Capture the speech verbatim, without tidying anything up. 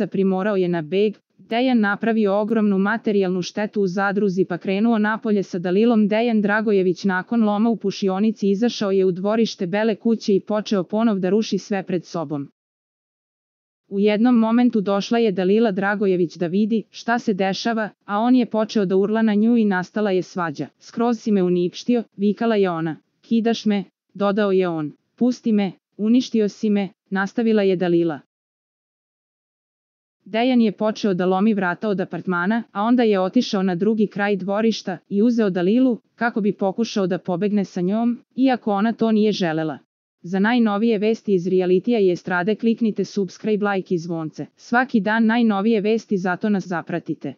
primorao je na beg. Dejan napravio ogromnu materijalnu štetu u zadruzi pa krenuo napolje sa Dalilom. Dejan Dragojević nakon loma u pušionici izašao je u dvorište Bele kuće i počeo ponov da ruši sve pred sobom. U jednom momentu došla je Dalila Dragojević da vidi šta se dešava, a on je počeo da urla na nju i nastala je svađa. Skroz si me uništio, vikala je ona. Kidaš me, dodao je on. Pusti me, uništio si me, nastavila je Dalila. Dejan je počeo da lomi vrata od apartmana, a onda je otišao na drugi kraj dvorišta i uzeo Dalilu, kako bi pokušao da pobegne sa njom, iako ona to nije želela. Za najnovije vesti iz realitija i estrade kliknite subscribe, like i zvonce. Svaki dan najnovije vesti, zato nas zapratite.